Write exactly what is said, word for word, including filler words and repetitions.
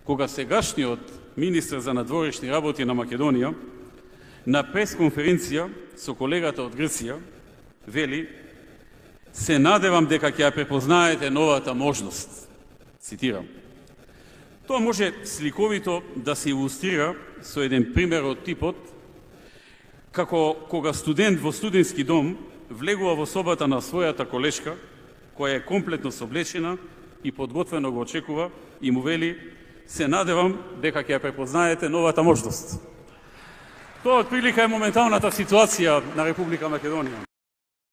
кога сегашниот министер за надворешни работи на Македонија на пресконференција со колегата од Грција вели: се надевам дека ќе ја препознаете новата можност. Цитирам. Тоа може сликовито да се илустрира со еден пример од типот како кога студент во студентски дом влегува во собата на својата колешка, која е комплетно соблечена и подготвено го очекува, и му вели: се надевам дека ќе ја препознаете новата можност. Тоа отприлика е моменталната ситуација на Република Македонија.